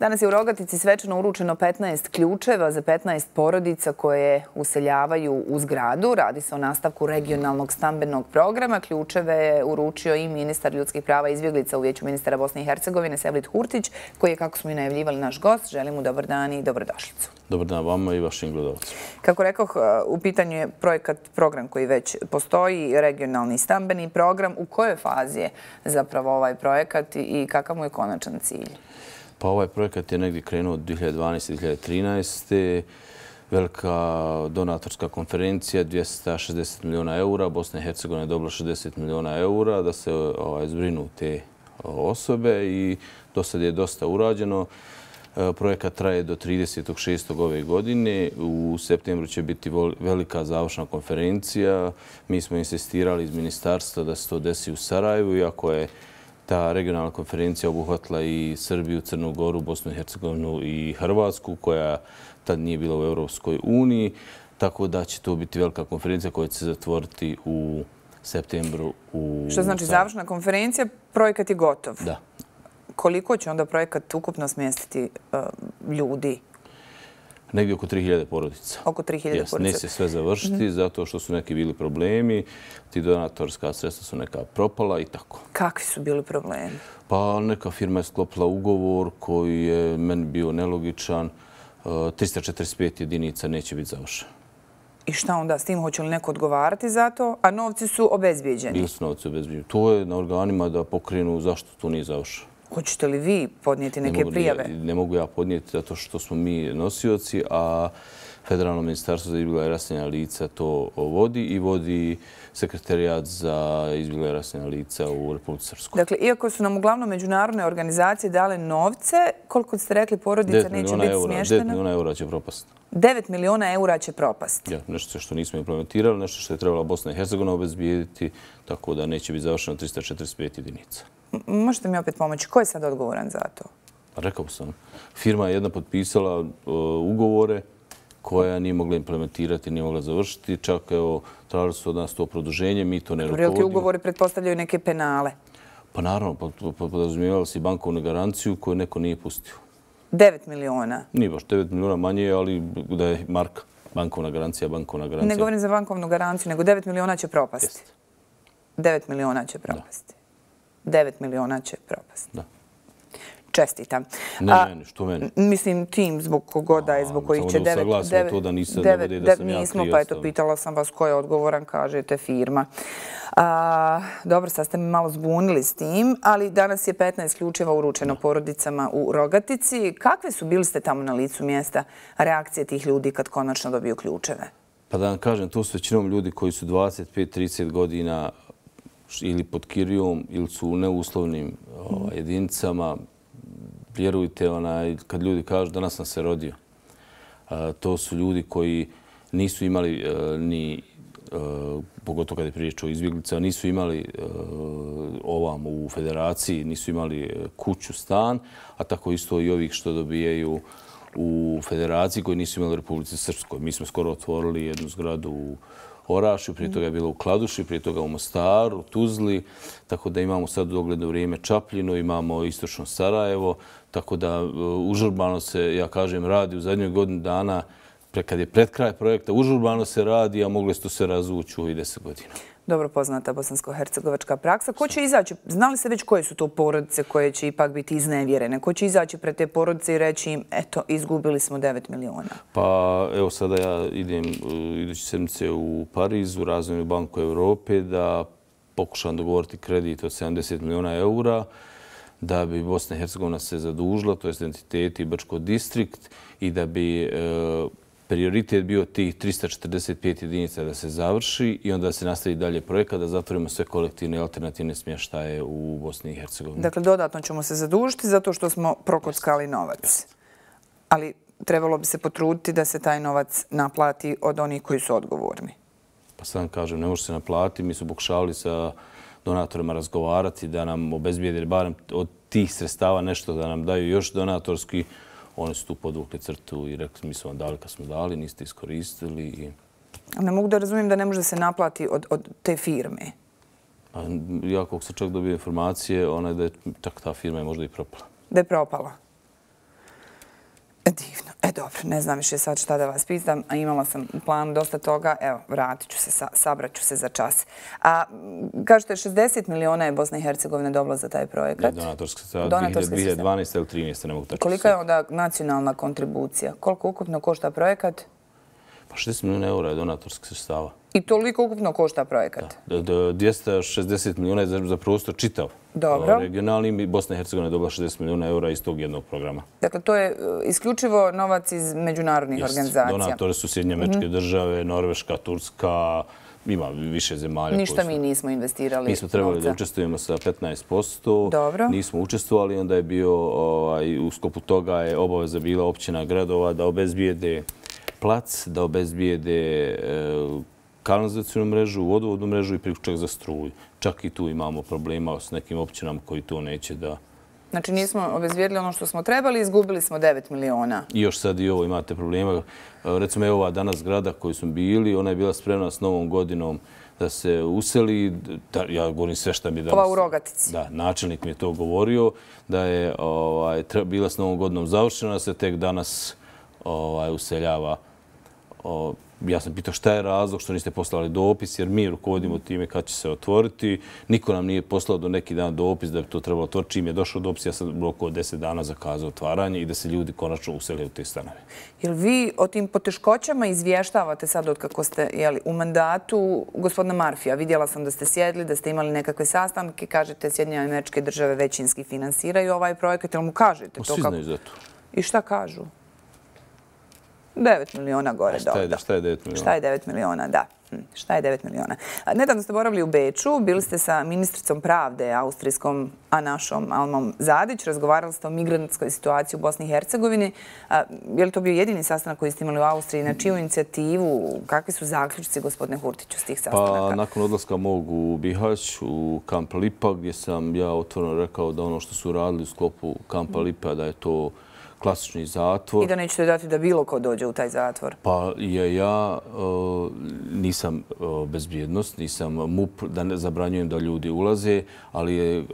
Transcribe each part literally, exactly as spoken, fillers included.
Danas je u Rogatici svečano uručeno petnaest ključeva za petnaest porodica koje useljavaju u zgradu. Radi se o nastavku regionalnog stambenog programa. Ključeve je uručio i ministar ljudskih prava i izbjeglica u Vijeću ministara Bosne i Hercegovine Sevlit Hurtić, koji je, kako smo i najavljivali, naš gost. Želim mu dobar dan i dobrodošlicu. Dobar dan vama i vašim gledalcima. Kako rekoh, u pitanju je projekat, program koji već postoji, regionalni stambeni program. U kojoj fazi je zapravo ovaj projekat i kakav mu je konačan cilj? Pa ovaj projekat je negdje krenuo od dvije hiljade dvanaeste. do dvije hiljade trinaeste. Velika donatorska konferencija, dvjesto šezdeset milijuna eura. Bosna i Hercegovina je dobila šezdeset milijuna eura da se ovaj, zbrinu te osobe i do sad je dosta urađeno. Projekat traje do tridesetog šestog ove godine. U septembru će biti velika završna konferencija. Mi smo insistirali iz ministarstva da se to desi u Sarajevu, iako je ta regionalna konferencija obuhvatila i Srbiju, Crnu Goru, Bosnu i Hercegovinu i Hrvatsku, koja tad nije bila u Europskoj uniji. Tako da će to biti velika konferencija koja će se zatvoriti u septembru u Što znači završna konferencija, projekat je gotov? Da. Koliko će onda projekat ukupno smjestiti uh, ljudi? Negdje oko tri hiljade porodica. Oko tri hiljade Yes, porodica. neće sve završiti mm-hmm. zato što su neki bili problemi. Ti donatorska sredstva su neka propala i tako. Kakvi su bili problemi? Pa neka firma je sklopila ugovor koji je meni bio nelogičan. trista četrdeset pet jedinica neće biti završeno. I šta onda s tim? Hoće li neko odgovarati za to? A novci su obezbijeđeni? Bili su novci obezbijeđeni. To je na organima da pokrenu zašto to nije završeno. Hoćete li vi podnijeti neke prijave? Ne mogu ja podnijeti zato što smo mi nosioci, a Federalno ministarstvo za izbjegla i raseljena lica to vodi i vodi sekretarijat za izbjegla i raseljena lica u Republici Srpskoj. Dakle, iako su nam uglavnom međunarodne organizacije dale novce, koliko ste rekli porodica neće biti smještena? devet milijuna eura će propasti. devet milijuna eura će propasti? Ja, nešto što nismo implementirali, nešto što je trebala Bosna i Hercegovina obezbijediti, tako da neće biti završeno trista četrdeset pet jedinica. Možete mi opet pomoći? Ko je sad odgovoran za to? Rekao sam. Firma je jedna potpisala ugovore koja nije mogla implementirati, nije mogla završiti. Čak evo, tražili su od nas to produženje, mi to ne rukovodimo. Ti ugovori pretpostavljaju neke penale? Pa naravno, podrazumijevali si bankovnu garanciju koju neko nije pustio. devet miliona? Nije baš devet miliona manje, ali da je marka. Bankovna garancija, bankovna garancija. Ne govorim za bankovnu garanciju, nego devet miliona će propasti. devet miliona će propasti. devet miliona će propasti. Da. Čestitam. Ne meni, što meni? Mislim tim zbog kogoda je, zbog kojih će devet... Samo da usaglasimo to da nisam ne bude da sam ja Nismo, pa eto, pitala sam vas ko je odgovoran, kažete firma. A, dobro, sad ste me malo zbunili s tim, ali danas je petnaest ključeva uručeno porodicama u Rogatici. Kakve su, bili ste tamo na licu mjesta, reakcije tih ljudi kad konačno dobiju ključeve? Pa da vam kažem, to su većinom ljudi koji su dvadeset pet do trideset godina ili pod kirijom ili su u neuslovnim o, jedinicama. Vjerujte, onaj, kad ljudi kažu danas sam se rodio, a, to su ljudi koji nisu imali a, ni, a, pogotovo kad je priča o izbjeglicama, nisu imali a, ovam u federaciji, nisu imali kuću, stan, a tako isto i ovih što dobijaju u federaciji koji nisu imali u Republici Srpskoj. Mi smo skoro otvorili jednu zgradu u Orašju, prije toga je bilo u Kladuši, prije toga u Mostaru, Tuzli, tako da imamo sad u dogledno vrijeme Čapljinu, imamo istočno Sarajevo, tako da užurbano se, ja kažem, radi u zadnjoj godini dana, kad je pred kraj projekta, užurbano se radi, a mogli ste se razvući u ovih deset godina. Dobro poznata bosansko-hercegovačka praksa. Ko će izaći? Znali se već koje su to porodice koje će ipak biti iznevjerene? Ko će izaći pred te porodice i reći im, eto, izgubili smo devet miliona? Pa evo sada ja idem idući sedmice u Pariz, u Razvojnu banku Evrope, da pokušam dogovoriti kredit od sedamdeset miliona eura, da bi Bosna i Hercegovina se zadužila, to je entiteti Brčko distrikt, i da bi e, prioritet bio tih trista četrdeset pet jedinica da se završi i onda da se nastavi dalje projekat, da zatvorimo sve kolektivne i alternativne smještaje u Bosni i Hercegovini. Dakle, dodatno ćemo se zadužiti zato što smo prokockali novac. Ali trebalo bi se potruditi da se taj novac naplati od onih koji su odgovorni. Pa sad kažem, ne može se naplatiti. Mi smo pokušavali sa donatorima razgovarati da nam obezbijede barem od tih sredstava nešto, da nam daju još donatorski. Oni su tu podvukli crtu i rekli mi smo vam dali kad smo dali, niste iskoristili. I... Ne mogu da razumijem da ne može se naplati od, od te firme. A ja kako sam čak dobio informacije, ona je da je čak ta firma je možda i propala. Da je propala? Divno. E, dobro, ne znam više sad šta da vas pitam, a imala sam u planu dosta toga. Evo, vratit ću se, sabrat ću se za čas. A, kažete, šezdeset miliona je Bosna i Hercegovina dobila za taj projekat. Donatorska sredstva, dvije hiljade dvanaeste ili trinaeste, ne mogu tačno. Kolika je onda nacionalna kontribucija? Koliko ukupno košta projekat? Pa šezdeset miliona eura je donatorskih sredstava. I toliko ukupno košta projekat? dvjesto šezdeset miliona je za prostor čitav. Dobro. Regionalni, Bosna i Hercegovina je dobila šezdeset miliona eura iz tog jednog programa. Dakle, to je isključivo novac iz međunarodnih organizacija. Donatori su Sjedinjene Američke Države, Norveška, Turska, ima više zemalja. Ništa mi nismo investirali. Mi smo trebali da učestvujemo sa petnaest posto. Dobro. Nismo učestvovali, onda je bio, u sklopu toga je obaveza bila općina gradova da obezbijede plac, da obezbijede kanalizacijnu mrežu, vodovodnu mrežu i priključak za struju. Čak i tu imamo problema s nekim općinama koji to neće da... Znači nismo obezbijedili ono što smo trebali, izgubili smo devet miliona. I još sad i ovo imate problema. Recimo, evo ova danas zgrada koju smo bili, ona je bila spremna s novom godinom da se useli. Ja govorim sve što mi danas... Ova u Rogatici. Da, načelnik mi je to govorio, da je bila s novom godinom završena, da se tek danas useljava. Ja sam pitao šta je razlog što niste poslali dopis, jer mi rukovodimo time kad će se otvoriti. Niko nam nije poslao do neki dan dopis da bi to trebalo otvoriti. Čim je došao dopis, ja sam u oko deset dana zakazao otvaranje i da se ljudi konačno usele u te stanove. Jel vi o tim poteškoćama izvještavate sad od kako ste u mandatu gospodina Marfija? Vidjela sam da ste sjedli, da ste imali nekakve sastanke. Kažete, Sjedinjene Američke Države većinski finansiraju ovaj projekat. Jel mu kažete to? Svi znaju za to. I šta kažu? devet miliona gore. Šta je devet miliona? Šta je devet miliona, da. Šta je devet miliona? Nedavno ste boravili u Beču, bili ste sa ministricom pravde austrijskom, a našom Almom Zadić. Razgovarali ste o migrantskoj situaciji u Bosni i Hercegovini. Je li to bio jedini sastanak koji ste imali u Austriji? Na čiju inicijativu? Kakvi su zaključci, gospodine Hurtiću, s tih sastanaka? Pa, nakon odlaska mog u Bihać, u Kamp Lipa, gdje sam ja otvoreno rekao da ono što su radili u sklopu Kampa Lipa, da je to klasični zatvor. I da nećete dati da bilo ko dođe u taj zatvor? Pa ja nisam bezbjednost, nisam MUP, da ne zabranjujem da ljudi ulaze, ali je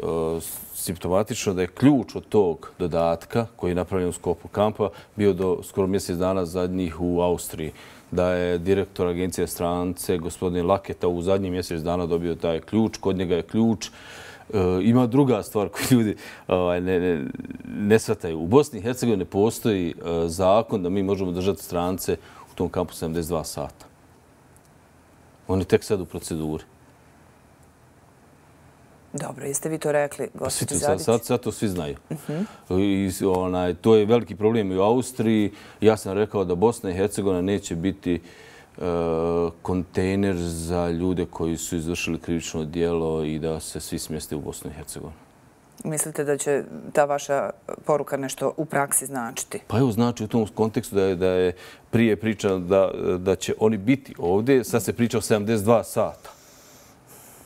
simptomatično da je ključ od tog dodatka koji je napravljen u sklopu kampa bio do skoro mjesec dana zadnjih u Austriji. Da je direktor agencije strance, gospodin Laketa, u zadnjih mjesec dana dobio taj ključ. Kod njega je ključ. Ima druga stvar koju ljudi ne shvataju. U Bosni i Hercegovini postoji zakon da mi možemo držati strance u tom kampu sedamdeset dva sata. On je tek sad u proceduri. Dobro, jeste vi to rekli, gospođo Zadić? Sad to svi znaju. To je veliki problem i u Austriji. Ja sam rekao da Bosna i Hercegovina neće biti kontejner za ljude koji su izvršili krivično djelo i da se svi smjeste u Bosnu i Hercegovinu. Mislite da će ta vaša poruka nešto u praksi značiti? Pa evo, znači u tom kontekstu da je prije priča da će oni biti ovdje, sad se priča o sedamdeset dva sata.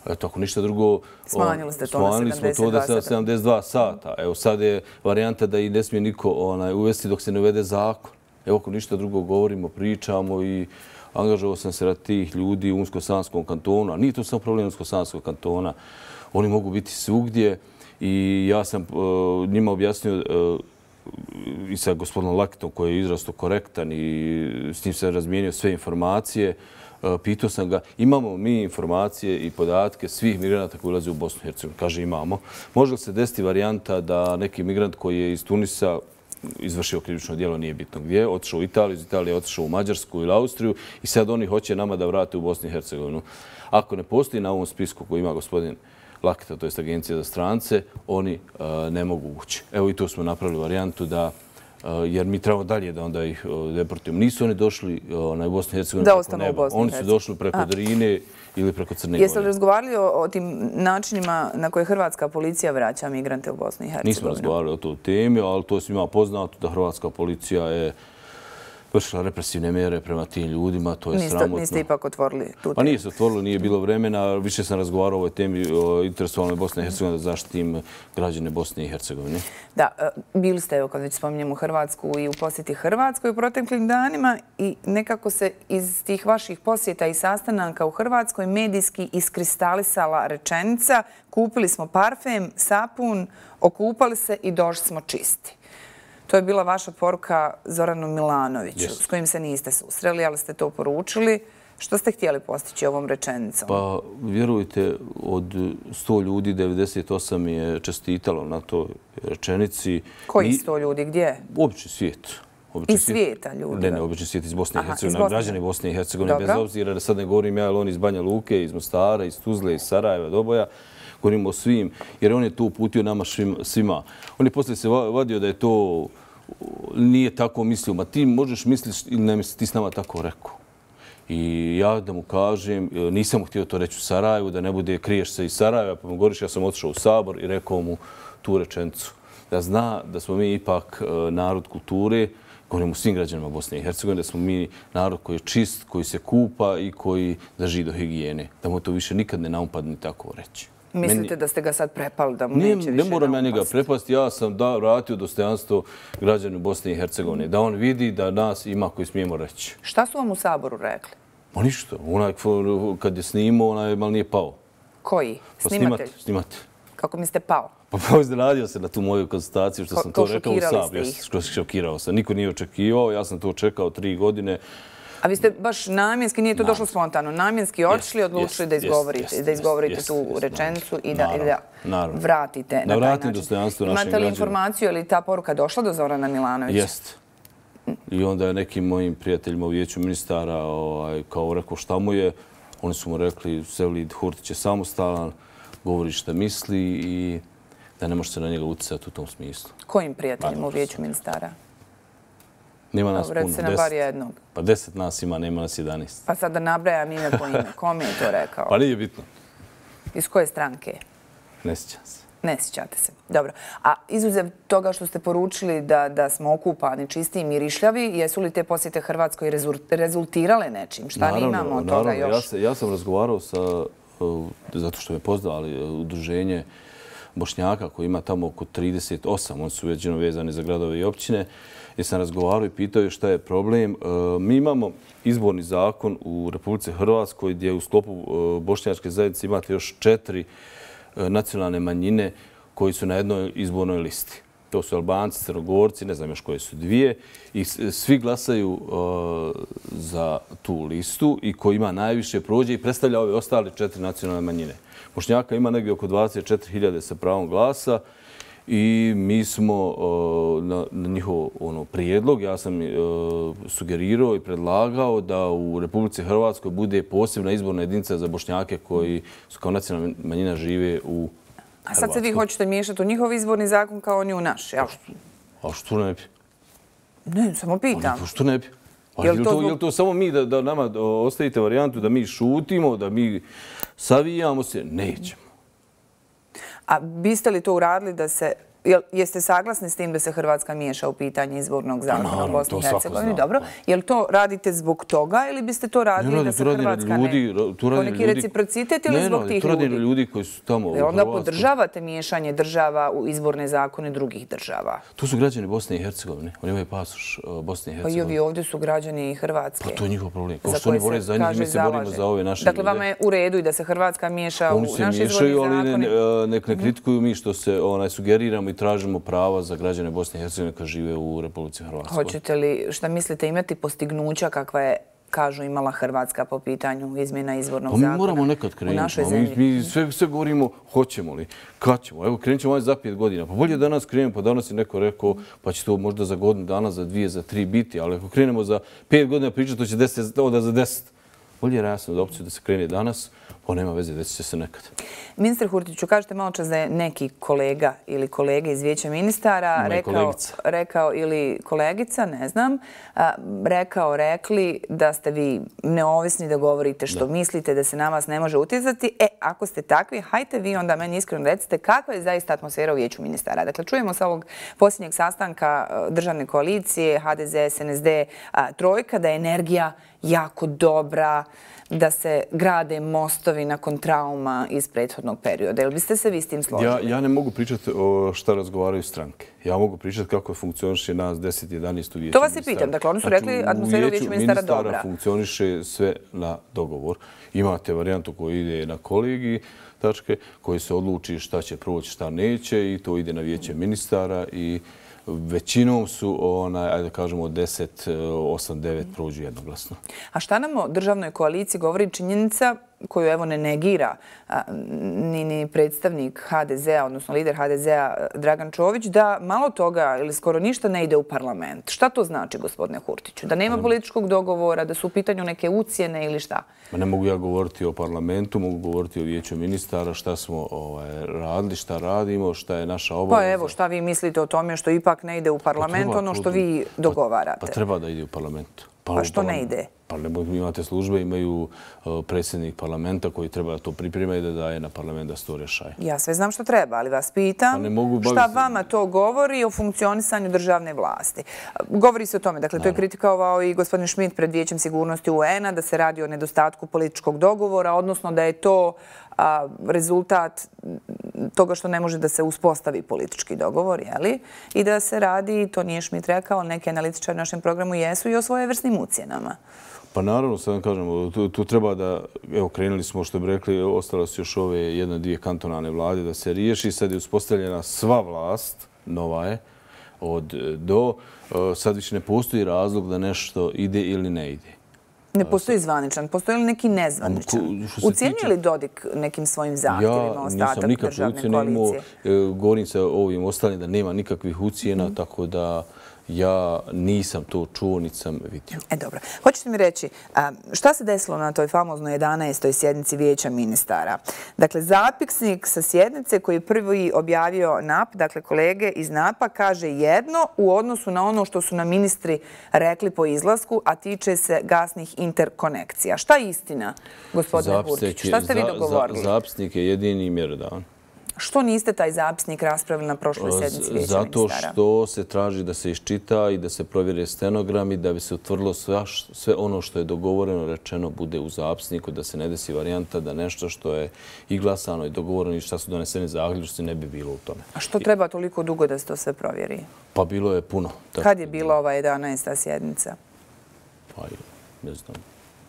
Eto, ako ništa drugo... Smanjili ste to na sedamdeset dva sata. Evo, sad je varijanta da i ne smije niko uvesti dok se ne uvede zakon. Evo, ako ništa drugo govorimo, pričamo i angažovao sam se rad tih ljudi u Unsko-Sanskom kantonu, a nije to samo problem Unsko-Sanskog kantona. Oni mogu biti svugdje i ja sam njima objasnio i sa gospodinom Lakitom koji je izrasto korektan i s njim sam razmijenio sve informacije. Pitao sam ga, imamo mi informacije i podatke svih migranata koji ulaze u Bosnu i Hercegovinu? Kaže, imamo. Može li se desiti varijanta da neki migrant koji je iz Tunisa izvršio krivično djelo, nije bitno gdje, otišao u Italiju, iz Italije otišao u Mađarsku ili Austriju i sad oni hoće nama da vrate u Bosnu i Hercegovinu. Ako ne postoji na ovom spisku koji ima gospodin Lakita, to je Agencija za strance, oni ne mogu ući. Evo i tu smo napravili varijantu da, jer mi trebamo dalje da onda ih deportujemo. Nisu oni došli na Bosnu i Hercegovinu preko neba. Oni su došli preko Drine ili preko Crne Gore. Jeste li razgovarali o tim načinima na koje hrvatska policija vraća migrante u Bosnu i Hercegovinu? Nismo razgovarali o toj temi, ali to je svima poznato da hrvatska policija je vršila represivne mere prema tim ljudima, to je sramotno. Niste ipak otvorili tu temu? Pa nije se otvorilo, nije bilo vremena. Više sam razgovarao o ovoj temi interesovalnoj Bosne i Hercegovine da zaštitim građane Bosne i Hercegovine. Da, bili ste, evo kad već spominjemo Hrvatsku, i u posjeti Hrvatskoj u proteklim danima i nekako se iz tih vaših posjeta i sastanaka u Hrvatskoj medijski iskristalisala rečenica: kupili smo parfem, sapun, okupali se i došli smo čisti. To je bila vaša poruka Zoranu Milanoviću, s kojim se niste susreli, ali ste to poručili. Što ste htjeli postići ovom rečenicom? Pa, vjerujte, od sto ljudi devedeset osam je čestitalo na toj rečenici. Koji sto ljudi? Gdje? Obični svijet. Iz svijeta ljudi? Ne, ne, obični svijet iz Bosne i Hercegovine. Građani Bosne i Hercegovine, bez obzira da sad ne govorim ja, ali on iz Banja Luke, iz Mostara, iz Tuzle, iz Sarajeva, Doboja. Govorimo o svim, jer on je to uputio nama svima. On je poslije se vadio da je to nije tako mislio. Ma ti možeš misliti ili ne misliš, ti s nama tako rekao. I ja da mu kažem, nisam mu htio to reći u Sarajevu, da ne bude kriješ se iz Sarajeva, pa mu govoriš, ja sam otišao u Sabor i rekao mu tu rečenicu. Da zna da smo mi ipak narod kulture, govorimo svim građanima Bosne i Hercegovine, da smo mi narod koji je čist, koji se kupa i koji drži do higijene. Da mu to više nikad ne naupadne tako reći. Mislite da ste ga sad prepali, da mu neće više naupasti? Ne moram ja njega prepasti. Ja sam vratio dostojanstvo građanima Bosne i Hercegovine. Da on vidi da nas ima koji smijemo reći. Šta su vam u Saboru rekli? Pa ništa. Kad je snimao, onaj malo nije pao. Koji? Snimatelj? Snimatelj. Kako mi ste pao? Pa pa iznenadio se na tu moju konstataciju što sam to rekao u Saboru. Šokirao sam. Niko nije očekivao. Ja sam to čekao tri godine. A vi ste baš namjenski, nije to došlo spontano, namjenski otišli, odlučili da izgovorite tu rečenicu i da vratite na taj način. Imate li informaciju, je li ta poruka došla do Zorana Milanovića? Jeste. I onda je nekim mojim prijateljima u vijeću ministara kao rekao šta mu je. Oni su mu rekli, Sevlid Hurtić je samostalan, govori šta misli i da ne može se na njega utjecati u tom smislu. Kojim prijateljima u vijeću ministara? Nema nas puno. Recite nam bar jednog. Pa deset nas ima, nema nas jedanaest. Pa sad da nabrajam ime po ime. Kom je to rekao? Pa nije bitno. Iz koje stranke? Ne sjećam se. Ne sjećate se. Dobro. A izuzev toga što ste poručili da smo okupani, čisti i mirišljavi, jesu li te posjete Hrvatskoj rezultirale nečim? Šta mi imamo od toga još? Ja sam razgovarao sa, zato što me poznali, udruženje Bošnjaka koji ima tamo oko trideset osam, oni su većino vezani za gradove i općine, jer sam razgovarao i pitao šta je problem. Mi imamo izborni zakon u Republici Hrvatskoj gdje u sklopu bošnjačke zajednice imate još četiri nacionalne manjine koji su na jednoj izbornoj listi. To su Albanci, Crnogorci, ne znam još koje su dvije. I svi glasaju za tu listu i ko ima najviše prođe i predstavlja ove ostale četiri nacionalne manjine. Bošnjaka ima negdje oko dvadeset četiri hiljade sa pravom glasa i mi smo na njihov prijedlog, ja sam sugerirao i predlagao da u Republici Hrvatskoj bude posebna izborna jedinica za Bošnjake koji su kao nacionalna manjina žive u Hrvatskoj. A sad se vi hoćete miješati u njihov izborni zakon kao on je u naš, jel? A što ne bi? Ne, samo pitam. Što ne bi? Je li to samo mi da nama ostavite varijantu da mi šutimo, da mi savijamo se? Nećemo. A biste li to uradili da se... Jeste saglasni s tim da se Hrvatska miješa u pitanje izbornog zakona u Bosni i Hercegovini? Dobro. Je li to radite zbog toga ili biste to radili da se Hrvatska ne... Po neki reciprocitet ili zbog tih ljudi? To radi ljudi koji su tamo u Hrvatskoj. Onda podržavate miješanje država u izborne zakone drugih država? To su građani Bosne i Hercegovine. Oni imaju pasoš Bosne i Hercegovine. Pa i ovi ovdje su građani Hrvatske. Pa to je njihov problem. Kao što oni bore za njih, mi se borimo za ove naše ljude. Dakle, vama je u redu i da se Hrvatska miješa u naše izborne zakone? Oni se miješaju, ali nek ne kritikuju mi što se sugeriramo i tražimo prava za građane Bosne i Hercegovine koji žive u Republici Hrvatskoj. Hoćete li, šta mislite, imati postignuća kakva je, kažu, imala Hrvatska po pitanju izmjena izbornog zakona? Pa mi moramo nekad krenuti. Mi sve govorimo hoćemo li, kad ćemo. Evo, krenut ćemo za pet godina. Pa bolje danas krenemo, pa danas je neko rekao pa će to možda za godinu dana, za dvije, za tri biti, ali ako krenemo za pet godina pričati, to će deseti, onda za deset. Bolje je jasno da opciju da se krene danas, pa nema veze, desit će se nekad. Ministar Hurtiću, kažete malo čas da je neki kolega ili kolege iz vijeća ministara rekao, ili kolegica, ne znam, rekao, rekli da ste vi neovisni, da govorite što mislite, da se na vas ne može utjecati. E, ako ste takvi, hajte vi onda meni iskreno recite kakva je zaista atmosfera u vijeću ministara. Dakle, čujemo sa ovog posljednjeg sastanka državne koalicije, H D Z, S N S D, Trojka, da je energija jako dobra, da se grade mostovi nakon trauma iz prethodnog perioda. Jel biste se vi s tim složili? Ja ne mogu pričati o šta razgovaraju stranke. Ja mogu pričati kako funkcioniše nas deset jedanaest u vijeću ministara. To vas i pitam. Dakle, oni su rekli atmosfera u vijeću ministara dobra. U vijeću ministara funkcioniše sve na dogovor. Imate varijantu koja ide na kolegiji, tačke, koji se odluči šta će proći, šta neće i to ide na vijeće ministara i većinom su, ajde da kažemo, deset, osam, devet prođu jednoglasno. A šta nam o državnoj koaliciji govori činjenica koju evo ne negira ni predstavnik ha de zea, odnosno lider ha de zea Dragan Čović, da malo toga ili skoro ništa ne ide u parlament. Šta to znači, gospodine Hurtiću? Da nema političkog dogovora, da su u pitanju neke ucjene ili šta? Ne mogu ja govoriti o parlamentu, mogu govoriti o vijeću ministara, šta smo radili, šta radimo, šta je naša obaveza. Pa evo, šta vi mislite o tome što ipak ne ide u parlament, ono što vi dogovarate? Pa treba da ide u parlament. Pa što ne ide? Pa imate službe, imaju predsjednik parlamenta koji treba da to priprema i da daje na parlament da se to rješaje. Ja sve znam što treba, ali vas pitam šta vama to govori o funkcionisanju državne vlasti. Govori se o tome, dakle to je kritikovao i gospodin Schmidt pred Vijećem sigurnosti u en a, da se radi o nedostatku političkog dogovora, odnosno da je to rezultat toga što ne može da se uspostavi politički dogovor, jeli? I da se radi, to nije Schmidt rekao, neki analitičari u našem programu jesu i o svojevrsnim ucjenama. Pa naravno, sad vam kažemo, tu treba da, evo, krenuli smo, što bi rekli, ostalo su još ove jedne, dvije kantonalne vlade da se riješi. Sad je uspostavljena sva vlast, nova je, od do. Sad više ne postoji razlog da nešto ide ili ne ide. Ne postoji zvaničan, postoji li neki nezvaničan? Ucijenio li Dodik nekim svojim zahtjevima ostatak državne koalicije? Govorim se o ovim ostalim da nema nikakvih ucijena, tako da ja nisam to čuo, niti sam vidio. E, dobro. Hoćete mi reći, šta se desilo na toj famoznoj jedanaestoj sjednici Vijeća ministara? Dakle, zapisnik sa sjednice koji je prvi objavio en a pe, dakle, kolege iz en a pe-a, kaže jedno u odnosu na ono što su nam ministri rekli po izlasku, a tiče se gasnih interkonekcija. Šta je istina, gospodine Hurtić? Šta ste vi dogovorili? Zapisnik je jedini i mjerodavan. Što niste taj zapisnik raspravili na prošloj sjednici Vijeća ministara? Zato što se traži da se iščita i da se provjere stenogrami, da bi se utvrdilo sve ono što je dogovoreno, rečeno, bude u zapisniku, da se ne desi varijanta da nešto što je i glasano i dogovoreno i šta su doneseni zaključci ne bi bilo u tome. A što treba toliko dugo da se to sve provjeri? Pa bilo je puno. Kad je bila ova jedanaesta sjednica? Pa ne znam.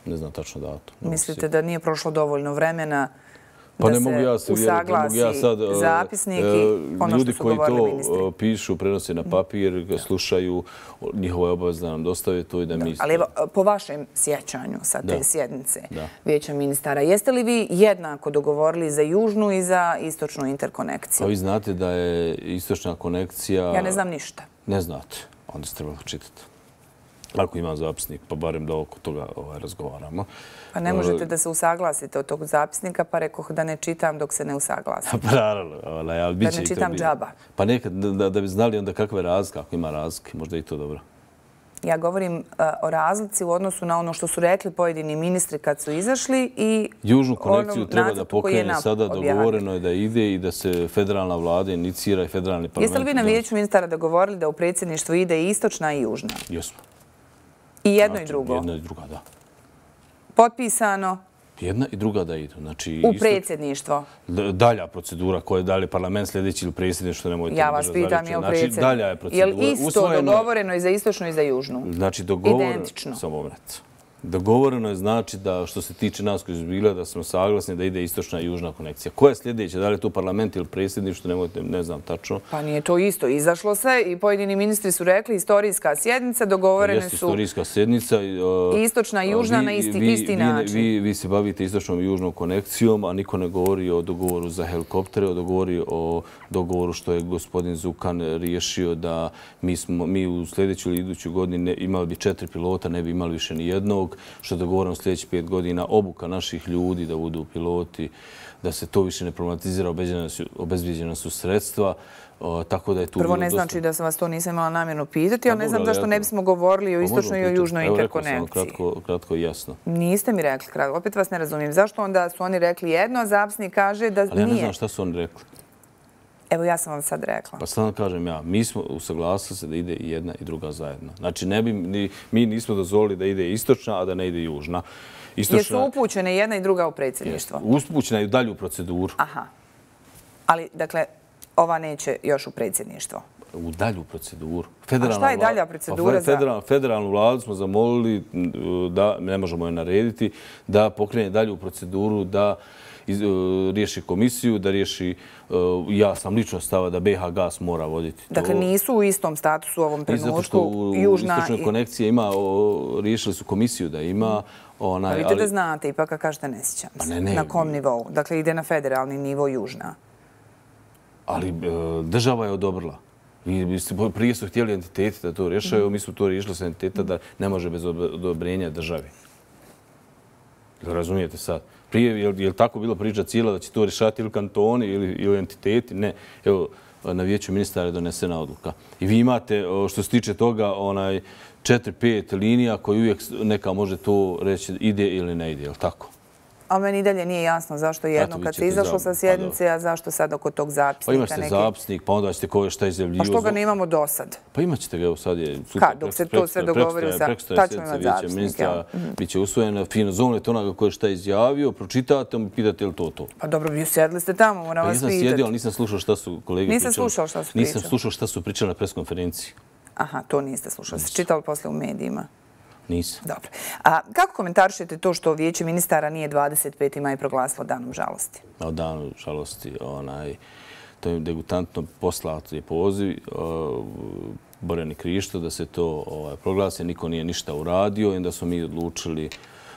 Ne znam tačno datum. Mislite da nije prošlo dovoljno vremena Pa ne mogu ja se uvjeriti, ne mogu ja sad zapisnik i ono što su govorili ministri. Ljudi koji to pišu, prenose na papir, slušaju, njihova je obaveza da nam dostave to i da mi... Ali evo, po vašem sjećanju sa te sjednice Vijeća ministara, jeste li vi jednako dogovorili za južnu i za istočnu interkonekciju? A vi znate da je istočna konekcija... Ja ne znam ništa. Ne znate, onda ste trebali čitati. Ako imam zapisnik, pa barem da oko toga razgovaramo. Pa ne možete da se usaglasite od tog zapisnika, pa rekoh da ne čitam dok se ne usaglasim. Pa naravno. Da ne čitam džaba. Pa nekad da bi znali onda kakve razlike, ako ima razlike, možda i to dobro. Ja govorim o razlici u odnosu na ono što su rekli pojedini ministri kad su izašli i južnu konekciju treba da pokrene sada, dogovoreno je da ide i da se federalna vlada inicira i federalni parlament. Jeste li vi na Vijeću ministara dogovorili da u predsjedništvu ide i istočna i južna? Jesmo. I jedno i drugo? Jedno i druga, da. Potpisano? Jedna i druga da idu. U predsjedništvo? Dalja procedura koja je dalje parlament sljedeći ili predsjedništvo, nemojte... Ja vas pitam, je li predsjedništvo? Dalja je procedura. Je li isto dogovoreno i za istočnu i za južnu? Znači, dogovoreno... Identično. Samo moment. Dogovoreno je znači da što se tiče nas koji su bila da smo saglasni da ide istočna i južna konekcija. Koja je sljedeća? Da li je to parlament ili predsjedništvo? Nemojte, ne znam tačno. Pa nije to isto. Izašlo se i pojedini ministri su rekli istorijska sjednica, dogovorene su... Jeste istorijska sjednica. Istočna i južna na isti način. Vi se bavite istočnom i južnom konekcijom, a niko ne govori o dogovoru za helikoptere, o govori o dogovoru što je gospodin Zukan riješio da mi u sljedećoj ili idućoj godini imali bi četiri pilota, ne bi imali više ni jednog, što je dogovoreno sljedećih pet godina, obuka naših ljudi da budu piloti, da se to više ne problematizira, obezbijeđena su sredstva, tako da je tu... Prvo ne znači da sam vas to nisam imala namjerno pitati, ali ne znam zašto ne bismo govorili o istočnoj i o južnoj interkonekciji. Evo rekao sam kratko i jasno. Niste mi rekli kratko, opet vas ne razumijem. Zašto onda su oni rekli jedno, a zapisnik kaže da nije? Ali ja ne znam šta su oni rekli. Evo, ja sam vam sad rekla. Pa sad vam kažem ja, mi smo usaglasili se da ide i jedna i druga zajedno. Znači, mi nismo dozvolili da ide istočna, a da ne ide južna. Jesu upućene jedna i druga u predsjedništvo? Upućena je u dalju proceduru. Aha. Ali, dakle, ova neće još u predsjedništvo? U dalju proceduru. A šta je dalja procedura za... Federalnu vladu smo zamolili da, ne možemo je narediti, da pokrene dalju proceduru, da riješi komisiju, da riješi, ja sam lično stava da B H Gas mora voditi to. Dakle, nisu u istom statusu u ovom trenutku. Zato što u istočnoj konekciji ima, riješili su komisiju da ima. Pa vidite da znate, ipak kad kažete ne sjećam se. Na kom nivou? Dakle, ide na federalni nivo Južna. Ali država je odobrila. Prije su htjeli entiteti da to rješaju, mi su to riješili sa entiteta da ne može bez odobrenja države. Razumijete sad? Prije, je li tako bilo priča cijela da će to rješati ili kantoni ili entiteti? Ne. Evo, na vijeću ministara je donesena odluka. I vi imate, što se tiče toga, onaj četiri pet linija koji uvijek neka može to reći ide ili ne ide, je li tako? A meni i dalje nije jasno zašto jedno kad se izašlo sa sjednice, a zašto sad oko tog zapisnika? Pa imašte zapisnik, pa onda ćete koje šta izjavljivo. Pa što ga ne imamo do sad? Pa imat ćete ga, evo sad je... Kad? Dok se to sve dogovori sa... Tad ćemo imati zapisnik, jel? Biće usvojeno, fino zovnete onoga koje šta izjavio, pročitate, mu pitate je li to to. Pa dobro, vi sjedli ste tamo, moram vas pitati. Nisam sjedio, ali nisam slušao šta su kolege pričali. Nisam slušao šta su pričali? Nisam slušao šta su pričali na preskonferenciji. Aha, to niste slušali. Ste čitali posle u medijima? Nisam. Dobro. A kako komentarišete to što vijeće ministara nije dvadeset peti maj proglasilo danom žalosti? O danu žalosti, onaj, to je degutantno poslato je poziv Borjani Krišto da se to proglasi. Niko nije ništa uradio i onda smo mi odlučili,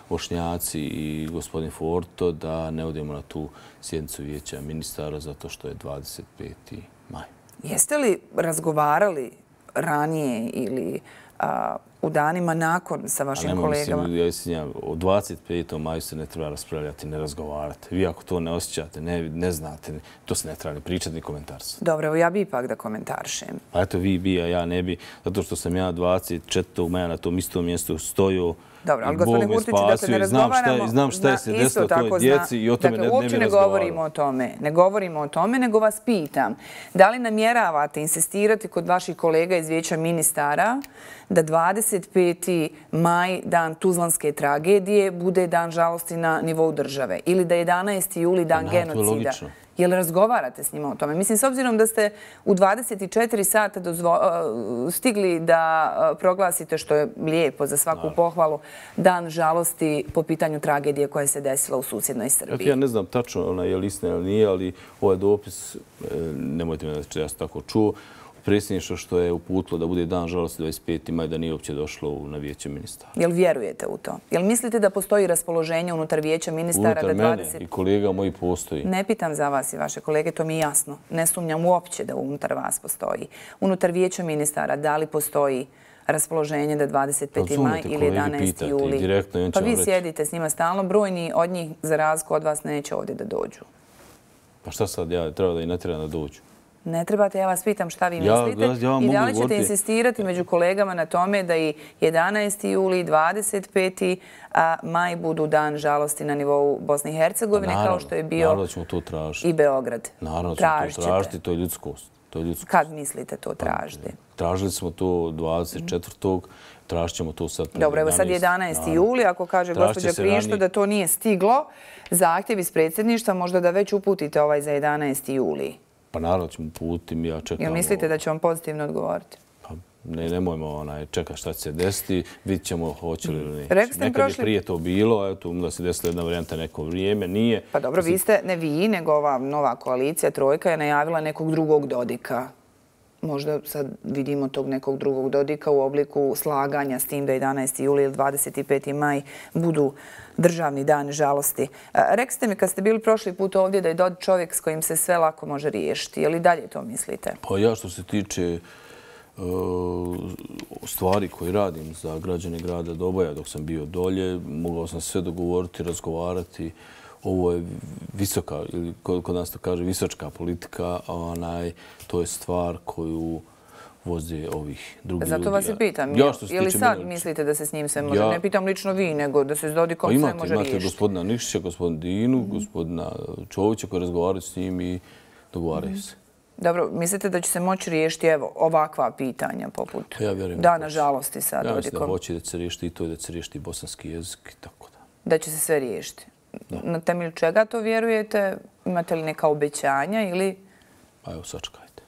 Bošnjaci i gospodin Forto, da ne odemo na tu sjednicu vijeća ministara zato što je dvadeset peti maj. Jeste li razgovarali ranije ili u danima nakon sa vašim kolegama? Ja mislim, o dvadeset petom maju se ne treba raspravljati, ne razgovarati. Vi ako to ne osjećate, ne znate, to se ne treba ni pričati, ni komentariti. Dobro, evo ja bi ipak da komentaršem. Pa eto, vi bi, a ja ne bi, zato što sam ja dvadeset četvrtog maja na tom istom mjestu stojao. Dobro, ali gospodine Hurtiću, dakle ne razgovaramo... Znam šta je se desilo toj djeci i o tome ne bi razgovarao. Dakle, uopće ne govorimo o tome. Ne govorimo o tome, nego vas pitam. Da li namjeravate insistirati kod vaših kolega iz vijeća ministara da dvadeset peti maj, dan Tuzlanske tragedije, bude dan žalosti na nivou države? Ili da je jedanaesti juli dan genocida? Je li razgovarate s njima o tome? Mislim, s obzirom da ste u dvadeset četiri sata stigli da proglasite, što je lijepo za svaku pohvalu, dan žalosti po pitanju tragedije koja se desila u susjednoj Srbiji. Ja ne znam tačno je li istina ili nije, ali ovaj dopis, nemojte me da ja sam tako čuo, predsjedništvo što je uputilo da bude dan žalosti dvadeset peti maj, da nije uopće došlo na vijeće ministara. Jel vjerujete u to? Jel mislite da postoji raspoloženje unutar vijeća ministara? Unutar mene i kolega moji postoji. Ne pitam za vas i vaše kolege, to mi je jasno. Ne sumnjam uopće da unutar vas postoji. Unutar vijeća ministara da li postoji raspoloženje da dvadeset peti maj ili jedanaesti juli? Pa vi sjedite s njima stalno, brojni od njih za razliku od vas neće ovdje da dođu. Pa šta sad, ja treba da i ne treba da dođu? Ne trebate, ja vas pitam šta vi mislite i da li ćete insistirati među kolegama na tome da i jedanaesti juli i dvadeset peti maj budu dan žalosti na nivou Bosne i Hercegovine kao što je bio i Beograd. Naravno ćemo to tražiti, to je ljudskost. Kad mislite to tražiti? Tražili smo to dvadeset četvrtog tražit ćemo to sad. Dobro, evo sad je jedanaesti juli, ako kaže gospođa Krišto da to nije stiglo, zahtjev iz predsjedništva možda da već uputite ovaj za jedanaesti juli. Pa naravno ćemo uputiti, ja čekam... Jel mislite da će vam pozitivno odgovoriti? Pa nemojmo čekati šta će se desiti, vidit ćemo hoće li ili neće. Rekli ste mi prošli... Nekad je prije to bilo, eto, onda se desila jedna varijanta neko vrijeme, nije... Pa dobro, vi ste, ne vi, nego ova nova koalicija, Trojka, je najavila nekog drugog Dodika. Možda sad vidimo tog nekog drugog Dodika u obliku slaganja s tim da jedanaesti juli ili dvadeset peti maj budu državni dan žalosti. Rekli ste mi kad ste bili prošli put ovdje da je Dodik čovjek s kojim se sve lako može riješiti. Je li dalje to mislite? Pa ja što se tiče stvari koje radim za građane grada Doboja dok sam bio dolje, mogao sam sve dogovoriti, razgovarati. Ovo je visoka, ili kod nas to kaže visočka politika, to je stvar koju voze ovih drugih ljudi. Zato vas i pitam, je li sad mislite da se s njim sve može? Ne pitam lično vi, nego da se s Dodikom sve može riješiti. Imate gospodina Nikšića, gospodina Dinu, gospodina Čovića koji razgovaraju s njim i dogovaraju se. Dobro, mislite da će se moći riješiti evo ovakva pitanja poput dana žalosti sa Dodikom? Ja mislim da hoće da će se riješiti i to, da će se riješiti i bosanski jezik i tako da. Da će se sve riješiti? Na temelju čega to vjerujete? Imate li neka obećanja ili... Pa evo, sačekajte.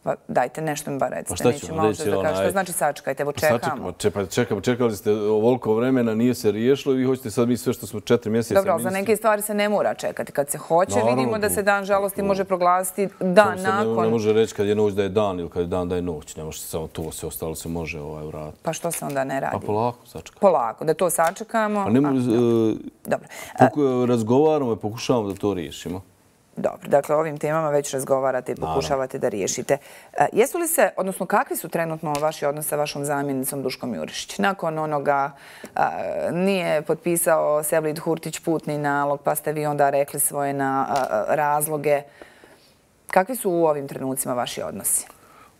Pa dajte nešto mi bar recite. šta ću vam reći? Što znači sačekajte? Evo čekamo. Čekamo, čekali ste ovoliko vremena, nije se riješilo i vi hoćete sad mi sve što smo četiri mjeseca ministri. Dobro, ali za neke stvari se ne mora čekati. Kad se hoće, vidimo da se dan žalosti može proglasiti dan nakon. Ne može reći kad je noć da je dan ili kad je dan da je noć. Ne može se samo to, sve ostalo se može uraditi. Pa što se onda ne radi? Pa polako sačekamo. Polako, da to sačekamo. Dobro. Razgovaramo i pokušavamo da to riješimo. Dobro, dakle, o ovim temama već razgovarate i pokušavate da riješite. Jesu li se, odnosno kakvi su trenutno vaši odnosi sa vašom zamjenicom Duškom Jurišić? Nakon onoga nije potpisao Sevlid Hurtić putni nalog, pa ste vi onda rekli svoje razloge. Kakvi su u ovim trenucima vaši odnosi?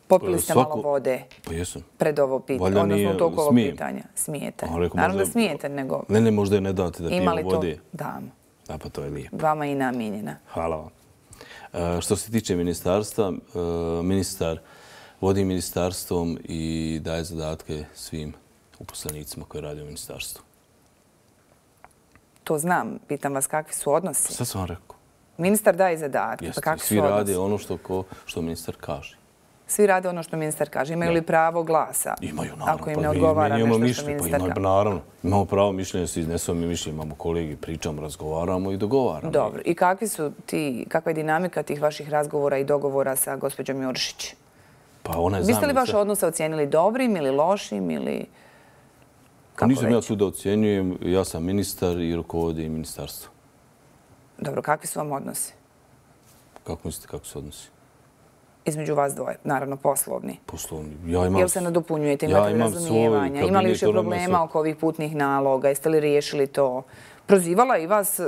Popili ste malo vode pred ovo pitanje, odnosno u toku ovog pitanja. Smijete. Naravno da smijete, nego... Ne, ne, možda je ne date da pijemo vode. Damo. Da, pa to je lijepo. Vama i namijenjena. Hvala vam. Što se tiče ministarstva, ministar vodi ministarstvom i daje zadatke svim uposlenicima koji rade u ministarstvu. To znam. Pitam vas kakvi su odnosi. Sve sam vam rekao. Ministar daje zadatke. Jeste. Svi rade ono što ministar kaže. Svi rade ono što ministar kaže. Imaju li pravo glasa? Imaju, naravno. Ako im ne odgovara nešto što ministar kaže. Naravno. Imamo pravo mišljenja, svi iznesemo mi mišljenje, imamo kolegi, pričamo, razgovaramo i dogovaramo. Dobro. I kakvi su ti, kakva je dinamika tih vaših razgovora i dogovora sa gospođom Jurišić? Pa ona je zamjenica. Biste li vaše odnose ocijenili dobrim ili lošim ili... Nisam ja tu da ocjenjujem. Ja sam ministar i rukovodim ministarstvo. Dobro. Kakvi su vam odnosi? Kako mislite kako su odnosi? Između vas dvoje, naravno poslovni. Poslovni. Jel se nadopunjujete, imate li razumijevanja? Ima li više problema oko ovih putnih naloga? Jeste li riješili to? Prozivala i vas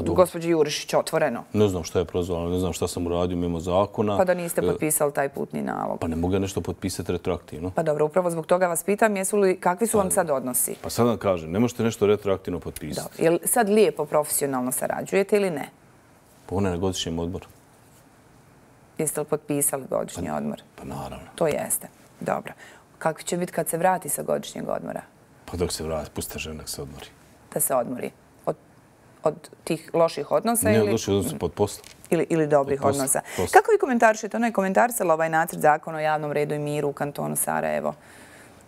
gospođa Jurišić otvoreno? Ne znam šta je prozvala, ne znam šta sam uradio mimo zakona. Pa da niste potpisali taj putni nalog? Pa ne mogu ja nešto potpisati retroaktivno. Pa dobro, upravo zbog toga vas pitam, kakvi su vam sad odnosi? Pa sad vam kažem, ne možete nešto retroaktivno potpisati. Jel sad lijepo profesionalno sarađujete ili ne? Pa ona je na godišnjem odboru. Jeste li potpisali godišnji odmor? Pa naravno. To jeste. Dobro. Kako će biti kad se vrati sa godišnjeg odmora? Pa dok se vrati, pusta žena nek se odmori. Da se odmori? Od tih loših odnosa? Ne, od loših odnosa, pod posla. Ili dobrih odnosa. Kako vi komentarišete? Ona je komentarisala ovaj nacrt zakona o javnom redu i miru u kantonu Sarajevo.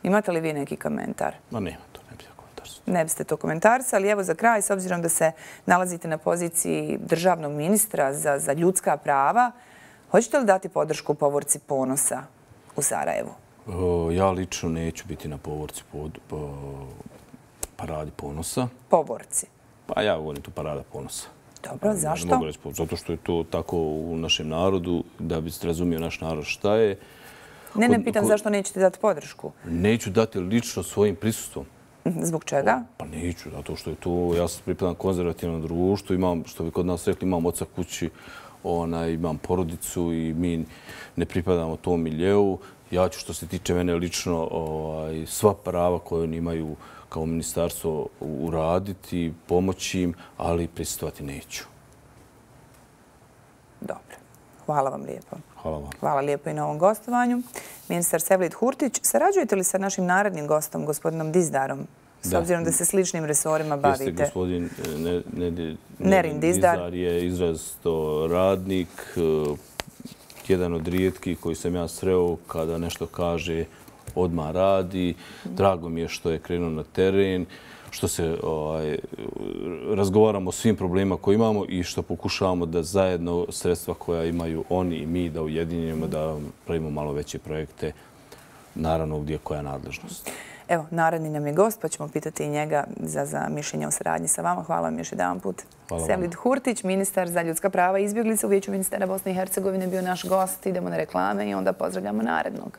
Imate li vi neki komentar? Ma nema, to ne bi ja komentarisao. Ne biste to komentarisali. Evo za kraj, s obzirom da se nalazite na poziciji državnog ministra za ljudska prava, hoćete li dati podršku povorci Ponosa u Sarajevu? Ja lično neću biti na povorci paradi Ponosa. Povorci? Pa ja govorim tu parada Ponosa. Dobro, zašto? Zato što je to tako u našem narodu, da bi se razumio naš narod šta je. Ne, ne pitam zašto nećete dati podršku. Neću dati lično svojim prisustvom. Zbog čega? Pa neću, zato što je to, ja sam pripadam konzervativnom društvu, imam, što bi kod nas rekli, imam oca kući, imam porodicu i mi ne pripadamo tom miljeu. Ja ću, što se tiče mene lično, sva prava koje oni imaju kao ministarstvo uraditi, pomoći im, ali prisustvovati neću. Dobro. Hvala vam lijepo. Hvala vam. Hvala lijepo i na ovom gostovanju. Ministar Sevlid Hurtić, sarađujete li sa našim narednim gostom, gospodinom Dizdarom? S obzirom da se sličnim resorima bavite. Jeste, gospodin Nerin Dizdar je izrazito radnik, jedan od rijetkih koji sam ja sreo kada nešto kaže odmah radi. Drago mi je što je krenuo na teren, što se razgovaramo o svim problemima koje imamo i što pokušavamo da zajedno sredstva koja imaju oni i mi da ujedinjemo, da pravimo malo veće projekte, naravno gdje koja je nadležnost. Evo, naredni nam je gost, pa ćemo pitati i njega za mišljenje o saradnji sa vama. Hvala vam još jedan put. Sevlid Hurtić, ministar za ljudska prava i izbjeglice u Vijeću ministara Bosne i Hercegovine, bio naš gost. Idemo na reklame i onda pozdravljamo narednog.